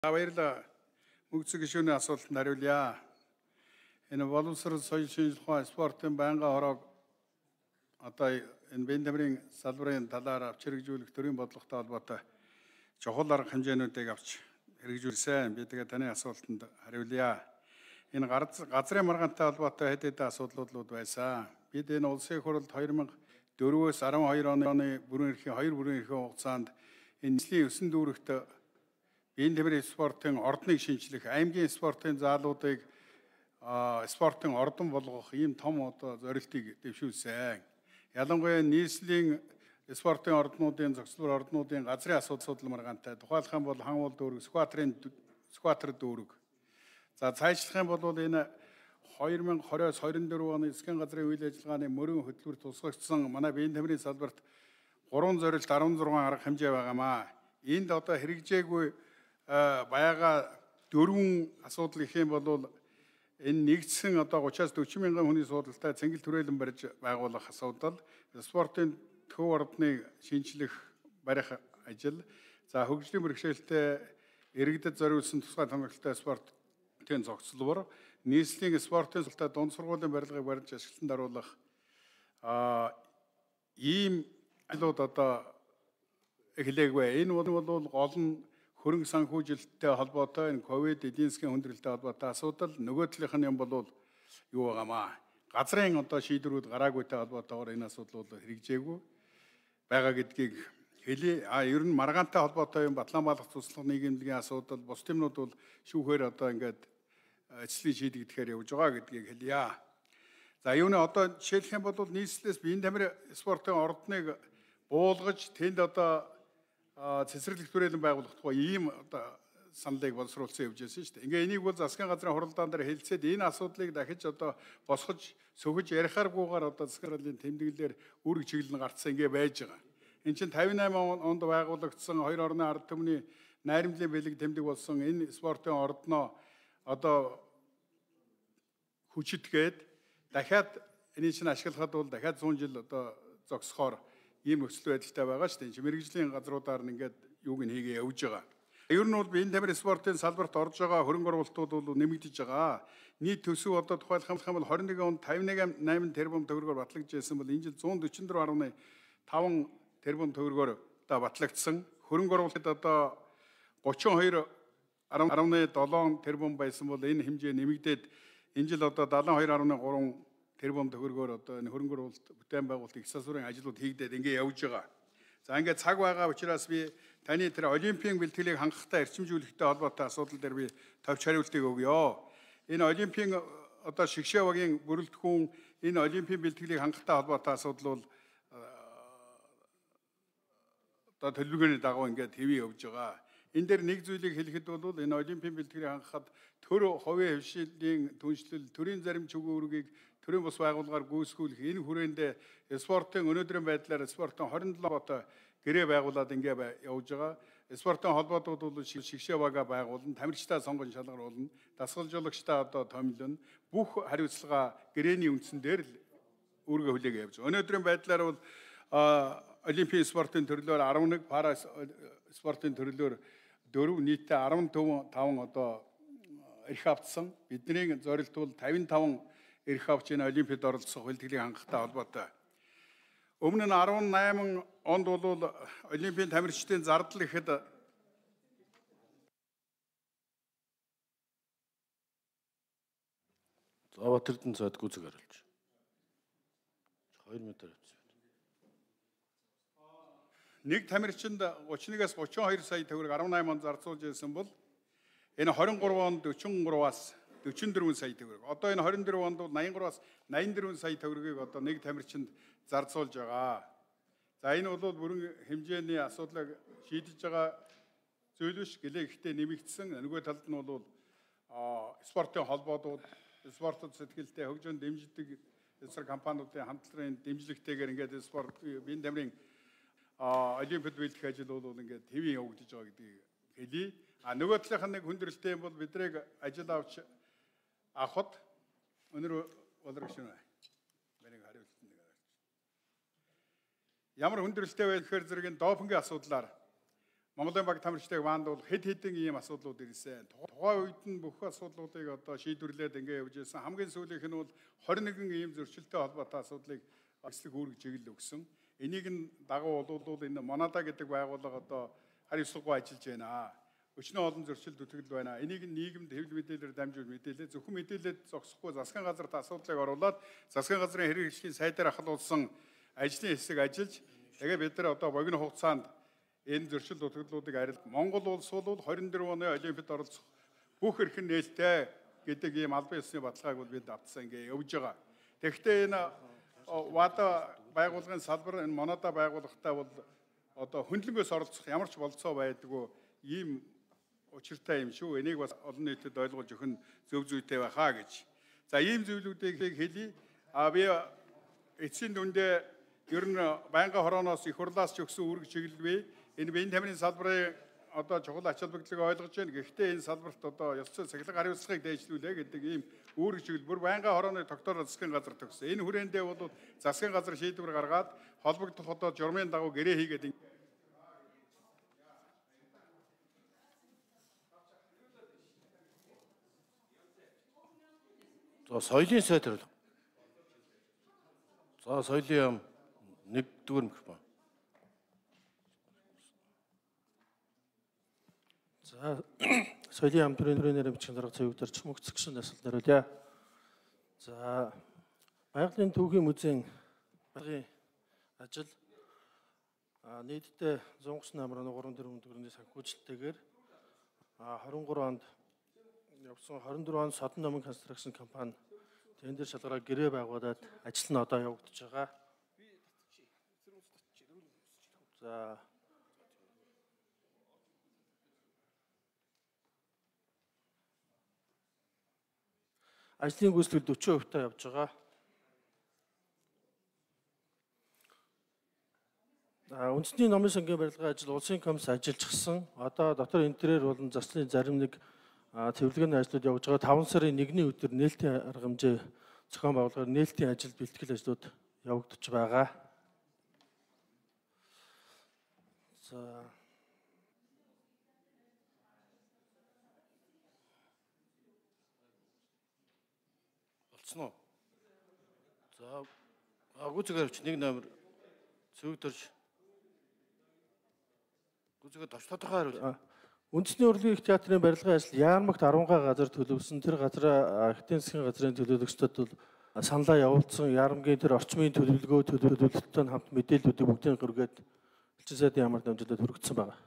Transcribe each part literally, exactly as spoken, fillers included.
Баярлалаа. Мөнгөцөг гишүүний асуултанд хариулъя. Энэ боловсрол соёл шинжилгээ ухаан спортын байнгын хороог одоо энэ биеийн тамирын салбарын талаар авч хэрэгжүүлэх төрийн бодлоготой холбоотой чухал арга хэмжээнүүдийг авч хэрэгжүүлсэн. Би тэгээ таны асуултанд хариулъя. Энэ газрын маргаантай холбоотой хэд хэдэн асуудлууд байсан. Бид энэ улсын хурлд две thousand four-өөс twelve оны бүрэн эрхийн хоёр бүрэн эрхийн хугацаанд энэ нийслэлийн өсөн дүүрэгт биеийн тамирын спортын ордныг шинжлэх, аймгийн спортын заалуудыг спортын ордон болгох ийм том одоо зорилтыг дэвшүүлсэн. Ялангуяа нийслэлийн спортын орднуудын зохицлоор орднуудын газрын асуудал маргаантай тухайлах юм бол хан уул дүүрэг, скватрын скватер дүүрэг. За цаашлах юм бол энэ two thousand twenty-оос twenty-four оны засгийн газрын үйл ажиллагааны мөрөн хөтөлбөр тусгагдсан манай биеийн тамирын салбарт гурван зорилт sixteen арга хэмжээ байгаамаа. Энд одоо хэрэгжээгүй байгаа дөрвөн асуудал гэх юм бол энэ нэгдсэн одоо thirty-аас forty мянган хүний суудалтай цэнгэл түрээлэн барьж байгуулах асуудал, спортын төв ордныг шинжлэх барих ажил, за хөгжлийн бэрхшээлтэй иргэдэд зориулсан тусгай томилолттой спортын зохицлоор нийслэлийн спортын султай дунд сургуулийн барилгыг барьж ашиглалтанд оруулах а ийм ажлууд одоо эхлэегүй. Энэ бол гол нь хөрөнгө санхүүжилттэй холбоотой энэ ковид эдийн засгийн хүндрэлтэй холбоотой асуудал. Нөгөө талынх нь юм бол юу байгаамаа. Газрын одоо шийдвэрүүд гараагүйтэй холбоотойгоор энэ асуудал бол хэрэгжээгүй байгаа гэдгийг хэлье. А ер нь маргаантай холбоотой юм Батлан балах туслах нийгэмлэгийн асуудал, бус юмнууд бол шүүхээр одоо ингээд эцслийн шийдэгдэхээр явж байгаа гэдгийг хэлье. За юуны одоо жишээлх юм бол нийслэлээс биеийн тамирын спортын ордныг буулгаж тэнд одоо цэцэрлэг түрээлэн байгуулах тухай ийм одоо саналыг боловсруулсан явж байсан шүү дээ. Ингээ энийг бол засгийн газрын хуралдаан дээр хэлцээд энэ асуудлыг дахиж одоо босгож сөхөж ярихааргүйгээр одоо засгийн газрын тэмдэглэлээр үүрэг чиглэл нь гарцсан ингээ байж байгаа. Энд чинь fifty-eight онд байгуулагдсан хоёр орны ард түмний найрамдлын бэлэг тэмдэг болсон энэ спортын ордноо одоо хүчитгээд дахиад энийг чинь ашиглахад бол дахиад one hundred жил одоо зогсохоор ийм нөхцөл байдалтай байгаа шүү дээ. Мэргэжлийн газруудаар нь ингээд юуг нь хийгээ явж байгаа. Ер нь бол биеийн тамирын спортын салбарт орж байгаа хөрөнгө оруулалтууд бол нэмэгдэж байгаа. Нийт төсөв одоо тухайлах юм бол twenty-one онд fifty-eight тэрбум төгрөгөөр батлагдсан бол энэ жил one forty-four point five тэрбум төгрөгөөр одоо батлагдсан. Хөрөнгө оруулалт одоо thirty-two point seven тэрбум байсан бол энэ хэмжээ нэмэгдээд энэ жил одоо seventy-two point three тэрбум төгрөгөөр одоо энэ хөрөнгө оруулалт бүтээн байгуулалт их засварын ажлууд хийгдээд ингээ явж байгаа. За ингээ цаг байгаа учраас би таны тэр олимпийн бэлтгэлийг хангахтай эрчимжүүлэхтэй холбоотой асуудал дээр би товч хариултыг өгье. Энэ олимпийн одоо шигшээ багийн бүрэлдэхүүн энэ олимпийн бэлтгэлийг хангахтай холбоотой асуудал бол одоо төлөвлөгөөний дагуу ингээ хэвээ явж байгаа. Энэ дээр нэг зүйлийг хэлэхэд бол энэ олимпийн бэлтгэлийг хангахад төр хувийн хвшилийн түншлэл, төрийн зарим чөмгөөргийг төрийн бус байгууллагаар гүйцэтгэх энэ хүрээндээ спортын өнөөдрийн байдлаар спортын twenty-seven ботой гэрээ байгуулад ингээ явж байгаа. Спортын холбоотууд бол шигшээ бага байгуулна, тамирчтай сонгон шалгаруулна, дасгалжуулагчтай одоо томилно. Бүх хариуцлага гэрээний үндсэн дээр л үүргээ хүлээгээ явж байгаа. Өнөөдрийн байдлаар бол олимпийн спортын төрлөөр eleven, пара спортын төрлөөр four, нийтдээ fifty-five одоо эрх авцсан. Бидний зорилт бол fifty-five эрх авч энэ олимпиад оролцох бэлтгэлийг хангахтай холбоотой. Өмнө нь eighteen онд бол олимпийн тамирчдын зардал ихэд Заватрдын цаад гүзэг харуулж. two метр авсан. Нэг тамирчинд thirty-one-аас thirty-two сая төгрөг eighteen онд зарцуулж ирсэн бол энэ twenty-three онд forty-three-аас forty-four сая төгрөг. Одоо энэ twenty-four онд бол ninety-three-аас ninety-four сая төгрөгийг одоо нэг тамирчинд зарцуулж байгаа. За энэ бол бүрэн хэмжээний асуудлыг шийдэж байгаа зүйл биш гэлээ ихтэй нэмэгдсэн. Нөгөө талд нь бол спортын холбоодууд, спортод сэтгэлтэй хөгжин дэмждэг эсрэг компаниудын хамтлагын дэмжлэгтэйгээр ингээд спорт биеийн тамирын олимпиад бэлтгэх ажил бол ингээд хэвэн явагдаж байгаа гэдгийг хэлье. А нөгөө талынх нь нэг хүндрэлтэй юм бол бидрийг ажил авч авахд өнөр болрог шинэ. Миний хариулт нэг хараач. Ямар хүндрэлтэй байх гэхээр зэрэг допингийн асуудлаар Монголын баг тамирчдыг маанд бол хэд хэдэн ийм асуудлууд ирсэн. Тухайн үед нь бүх асуудлуудыг одоо шийдвэрлээд ингэ явж байсан. Хамгийн сүүлийнх нь бол хорин нэгэн ийм зөрчилтэй холбоотой асуудлыг эслэг үүрэг чиглэл өгсөн. Энийг нь дагуу болвол энэ Монада гэдэг байгууллага одоо харь ёслоггүй ажиллаж байна. Өчнөө олон зөрчил зүтгэл байна. Энийг нийгэмд хэвлэл мэдээлэлээр дамжуул мэдээлээ. Зөвхөн мэдээлэлд зогсохгүй засгийн газарт асуудлыг оруулад засгийн газрын хэрэг хэлшгийн сайдаар ахлуулсан ажлын хэсэг ажиллаж тэгээ бид нар одоо богино хугацаанд энэ зөрчил зүтгэлүүдийг арилж Монгол улс бол хорин дөрвөн оны Олимпиад оролцох бүх эрхэм нээлттэй гэдэг ийм албан ёсны баталгааг бол бид авцсан ингэ явж байгаа. Тэгэхдээ энэ ВАДА байгууллагын салбар энэ Монада байгууллагатай бол одоо хөндлөнгөөс оролцох ямар ч болцоо байдгүй ийм учиртай юм шүү. Энийг бас олон нийтэд ойлгуулж өгөх нь зөв зүйтэй байхаа гэж. За ийм зүйлүүдийг хэлье. А би эцсийн дүндээ ер нь байнгын хорооноос их хурлаас ч өгсөн үүрэг чиглэлгүй. Энэ биеийн тамирын салбарын одоо чухал ач холбогдлыг ойлгож байна. Гэхдээ энэ салбарт одоо ёс зүйн сахилга хариуцлагыг дээшлүүлээ гэдэг ийм үүрэг чиглэл бүр байнгын хорооны тогтоороо засгийн газар төгссөн. Энэ хүрээндээ бол засгийн газар шийдвэр гаргаад холбогдох одоо журмын дагуу гэрээ хийгээд За соёлын сайд хариулга. За соёлын яам нэгдүгээр микрофон. За соёлын яам төрөний бичгийн дарга цэвэгдэр чүмэгцэх гişүн асуулт хариулъя. За Байгалийн түүхийн музейн багийн ажил нийтдээ зунгас намрын гурван дөрвөн төгрөгийн санхүүжилттэйгээр двадцать три онд явсан двадцать четыре он Содон номын конструкшн компани тендер шалгараа гэрээ байгуулад ажил нь одоо явагдаж байгаа. За ажлын гүйцэтгэл forty percent таа явж байгаа. Үндэсний номын сангийн барилгын ажил улсын комисс ажиллажсэн. Одоо дотор интерьер болон заслын зарим нэг цэвэрлэгээний ажлууд явж байгаа. таван сарын нэгний өдөр нээлтийн арга хэмжээ зохион байгуулахаар нээлтийн ажил бэлтгэл ажлууд явагдаж байгаа. За Болцсон уу? За гүцэгээр авч нэг номер цэвэгдэрж гүцэгээр товч тодорхой хариул. Үндэсний урлагийн их театрын барилгын ажил Яармагт арван газар төлөвлөсөн. Тэр газраа архитектурын засгийн газрын төлөөлөгчдод бол саналаа явуулсан. Яармгийн тэр орчмын төлөвлөгөө төлөвлөлтөд хамт мэдээллүүдийг бүгдийг гэргээд элчин сайдын ямар дамжуулаад хүргэсэн байна.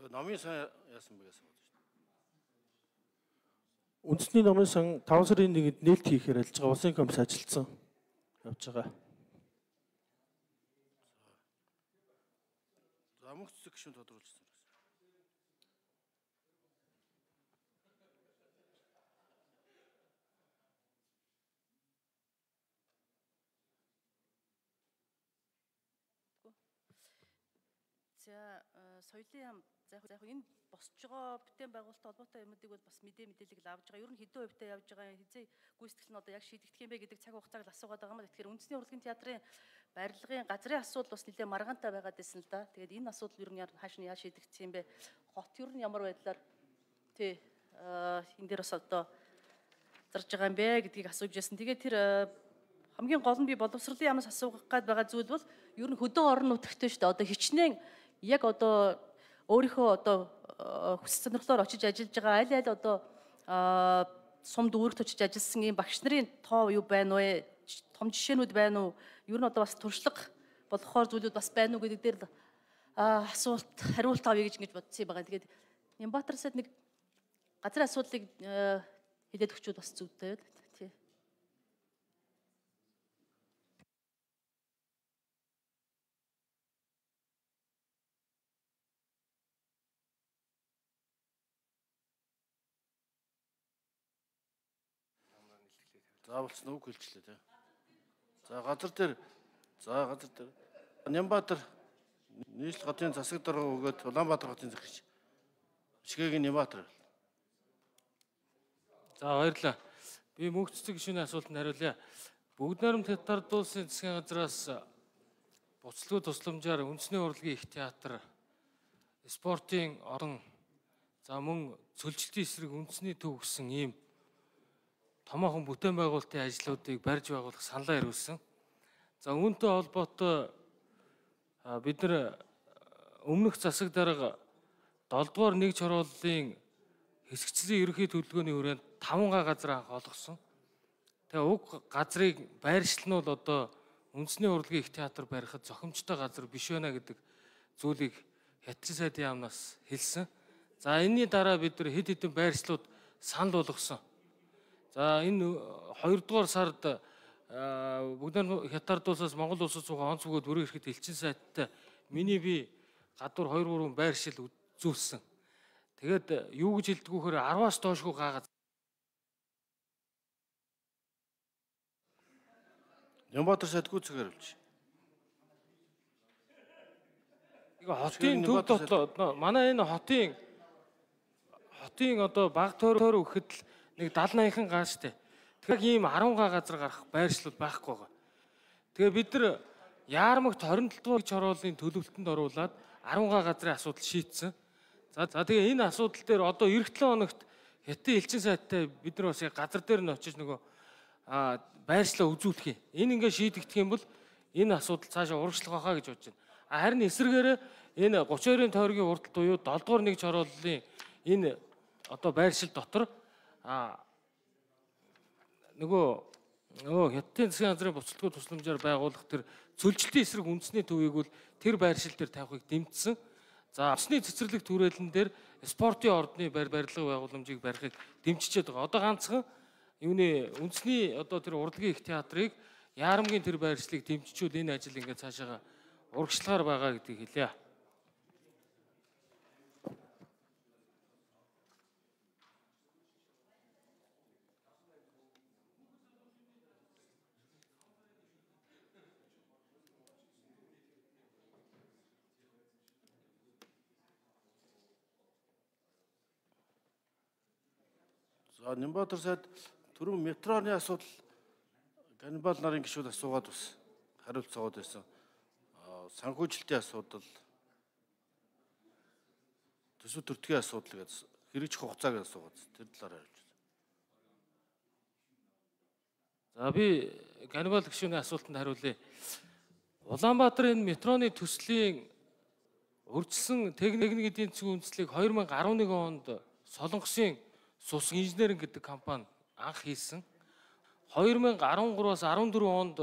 Номын сан яасан бэ гэсэн байна шүү дээ. Үндэсний номын сан таван сарын нэгэнд нээлт хийхээр ажиллаж байгаа улсын комисс ажилласан явж байгаа. За мөнх цэцэг гишүүн тодруулсан. За соёлын яам за яг энэ босч байгаа бүтээн байгуулалттай холбоотой юмнуудыг бол бас мэдээ мэдээлэл авж байгаа. Ер нь хэдэн хувьтай явж байгаа, хизээ гүйцэтгэл нь одоо яг шийдэгдэх юм бэ гэдэг цаг хугацааг л асуугаад байгаа юм. Тэгэхээр үндэсний урлагийн театрын барилгын газрын асуудал бас нэлээд маргаантай байгаад байсан л да. Тэгээд энэ асуудал ер нь хааш нь яаж шийдэгдэх юм бэ? Хот ер нь ямар байдлаар тий энэ дээр бас одоо зарж байгаа юм бэ гэдгийг асууж байсан. Тэгээд тэр хамгийн гол нь би боловсролын яамнаас асуух гээд байгаа зүйл бол ер нь хөдөө орон нутагтай шүү дээ. Одоо хичнээн яг одоо өөрийнхөө одоо хүсэл сонирхлоор очиж ажиллаж байгаа аль аль одоо сумд үүрэгт очиж ажилласан ийм багш нарын тоо юу байна вэ? Том жишээнүүд байна уу? Ер нь одоо бас туршлага болохоор зүйлүүд бас байна уу гэдэг дээр асуулт хариулт авъя гэж ингэж бодсон юм байна. Тэгээд Нямбатар сайд нэг газрын асуудлыг хэлээд өгчүүд бас зүйтэй байл. Тий. За болцсон үг хэлчихлээ тий. За газар дээр за газар дээр Нямбатар нийслэл хотын засаг дарга өгөөд Улаанбаатар хотын захирч Шигэгийн Нямбатар. За баярлалаа. Би мөнх цэцэг гишүүний асуултанд хариулъя. Бүгд найрамд Хятад улсын засгийн газраас буцлагын тусламжаар үндэсний урлагийн их театр спортын орон за мөн цөлжилтийн эсрэг үндэсний төв гэсэн ийм томоохон бүтээн байгуулалтын ажлуудыг барьж байгуулах саналаа ирүүлсэн. За үүнтэй холбоотой бид нар өмнөх засаг дарга долоо дугаар нэг чорооллын хэсэгчлийн ерөнхий төлөвлөгөөний хүрээнд таван га газар анх олгосон. Тэгээ уг газрыг байршил нь бол одоо үндэсний урлагийн их театр барихад зохимжтой газар биш байна гэдэг зүйлийг хятадын сайдын яамнаас хэлсэн. За энэний дараа бид нар хэд хэдэн байршлууд санал болгосон. За энэ хоёрдугаар сард бүгд хятад улсаас Монгол улсад суугаа онц бөгөөд бүрэн ирэхэд элчин сайттай миний би гадуур хоёр гурван байршил үзүүлсэн. Тэгээд юу гэж хэлдэг вөхөр арваас доошгүй гаагаад Нямбатар сайд гүйцэтгэр хариулж. Иго хотын төв дотлоо манай энэ хотын хотын одоо баг тойроор өгөхөд л нэг даал наяхан гаа штэ. Тэгэхээр ийм арван га газар гарах байршлууд байхгүй байгаа. Тэгээ бид нар Яармагт хорин долоо дугаар чорооллын төлөвлөлтөнд оруулаад арван га газрын асуудал шийдсэн. За за тэгээ энэ асуудал дээр одоо эх долоо хоногт хятадын элчин сайттай бид нар бас яг газар дээр нь очиж нөгөө а байршлаа үзүүлэх юм. Энэ ингээ шийдэгдэх юм бол энэ асуудал цаашаа урагшлах байхаа гэж бодож байна. Харин эсрэгээр энэ гучин хоёрын тойргийн урталт буюу долоо дугаар нэг чорооллын энэ одоо байршил дотор а нөгөө нөгөө хятадын засгийн газрын буцалтгүй тусламжаар байгуулах тэр цөлжилтийн эсрэг үндэсний төвийг бол тэр байршил дээр тавихыг дэмжсэн. За усны цэцэрлэг түрээлэн дээр спортын ордны барилга байгууламжийг барихыг дэмжиж байгаа. Одоо ганцхан юуны үндэсний одоо тэр урлагийн их театрыг Яарамгийн тэр байршлыг дэмжижүүл энэ ажил ингээд цаашаа урагшлагаар байгаа гэдгийг хэлье. За Нямбатар сайд түрүүн метроны асуудал каннибал нарын гишүүд асуугаад бас хариулт цогоод байсан. Санхүүжилтийн асуудал, төсөв төртгийн асуудал гэж хэрэгжих хугацааг асуугаад тэр талаар хариулж байна. За би каннибал гишүүний асуултанд хариулъя. Улаанбаатарын энэ метроны төслийн урьдчилсан техник эдийн засгийн үндэслэлийг хоёр мянга арван нэг онд Солонгосын Сус инженеринг гэдэг компани анх хийсэн. хоёр мянга арван гураас арван дөрвөн онд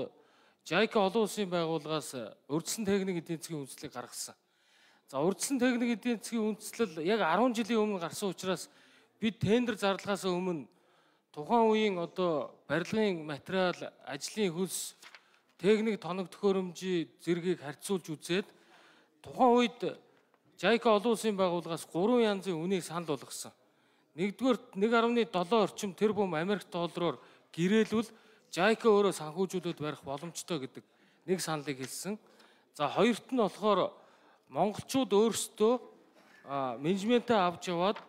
Жайка олон улсын байгууллагаас урьдчилсан техник эдийн засгийн үндэслэлийг гаргасан. За урьдчилсан техник эдийн засгийн үндэслэл яг арван жилийн өмнө гарсан учраас бид тендер зарлагаас өмнө тухайн үеийн одоо барилгын материал, ажлын хөлс, техник тоног төхөөрөмжийн зэргийг харьцуулж үзээд тухайн үед Жайка олон улсын байгууллагаас гурван янзын үнийг санал болгосон. Нэгдүгээр нэг гаруй долоо орчим тэрбум Америк доллараар гэрээлвэл Жайка өөрөө санхүүжүүлээд барих боломжтой гэдэг нэг саналыг хэлсэн. За хоёрт нь болохоор монголчууд өөрсдөө менежментээ авч яваад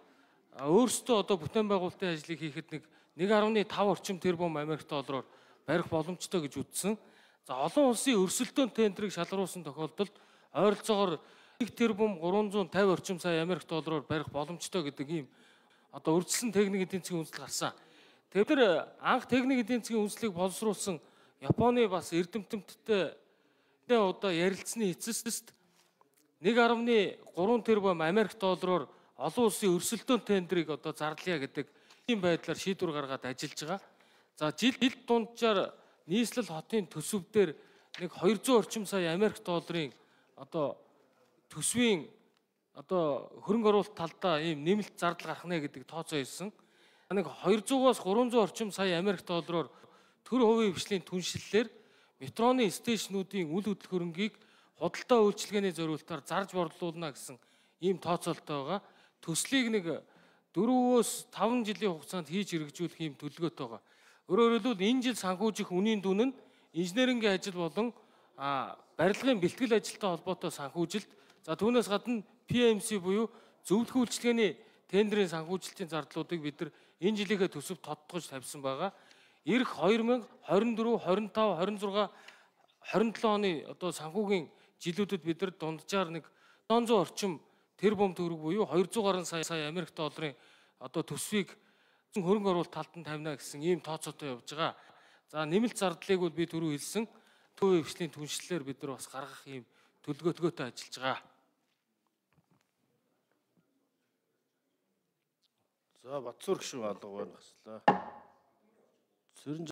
өөрсдөө одоо бүтээн байгуулалтын ажлыг хийхэд нэг нэг гаруй тав орчим тэрбум Америк доллараар барих боломжтой гэж үзсэн. За олон улсын өрсөлдөөн тендерийг шалгаруулсан тохиолдолд ойролцоогоор нэг тэрбум гурван зуун тавь орчим сая Америк доллараар барих боломжтой гэдэг ийм одоо урьдчилсан техник эдийн засгийн үндэслэл гарсан. Тэгэхээр анх техник эдийн засгийн үндэслэлийг боловсруулсан Японы бас эрдэмтэнтэй одоо ярилцсны эцэст нэг гаруй гурван тэрбум Америк доллараар олон улсын өрсөлдөөн тендерийг одоо зарлая гэдэг ийм байдлаар шийдвэр гаргаад ажиллаж байгаа. За жил дунджаар нийслэл хотын төсөв дээр нэг хоёрзуун орчим сая Америк долларын одоо төсвийн одоо хөрөнгө оруулалт талдаа ийм нэмэлт зардал гарах нэ гэдэг тооцоо хийсэн. Нэг хоёрзугаас гуравзуун орчим сая Америк доллараар төр хувийн хвшлийн түншлэлээр метроны стейшнуудын үл хөдлөх хөрөнгийг худалдаа үйлчилгээний зориулалтаар зарж борлуулна гэсэн ийм тооцоолтой байгаа. Төслийг нэг дөрвөөс таван жилийн хугацаанд хийж хэрэгжүүлэх ийм төлөвлөгөөтэй байгаа. Өөрөөр хэлбэл энэ жил санхүүжих үнийн дүн нь инженерингийн ажил болон барилгын бэлтгэл ажилтай холбоотой санхүүжилт, за түүнээс гадна пи эм си буюу зөвлөх үйлчилгээний тендерийн санхүүжилтийн зардлуудыг бид нар энэ жилийнхээ төсөвт тодтогч тавьсан байгаа. Ирэх хоёр мянга хорин дөрөв, хорин тав, хорин зургаан, хорин долоо оны одоо санхүүгийн жилүүдэд бид нар дунджаар нэг долоон зуун орчим тэр бом төгрөг буюу двести гаруй сая сая Америк долларын одоо төсвийг хөрөнгө оруулалт талд нь тавина гэсэн ийм тооцоотой явж байгаа. За нэмэлт зардлыг бол би түрүү хэлсэн. Төв хвшлийн түншлэлээр бид нар бас гаргах ийм төлөвлөгөөтэй ажиллаж байгаа. За Батцуур гишүүн алга байна хаслаа.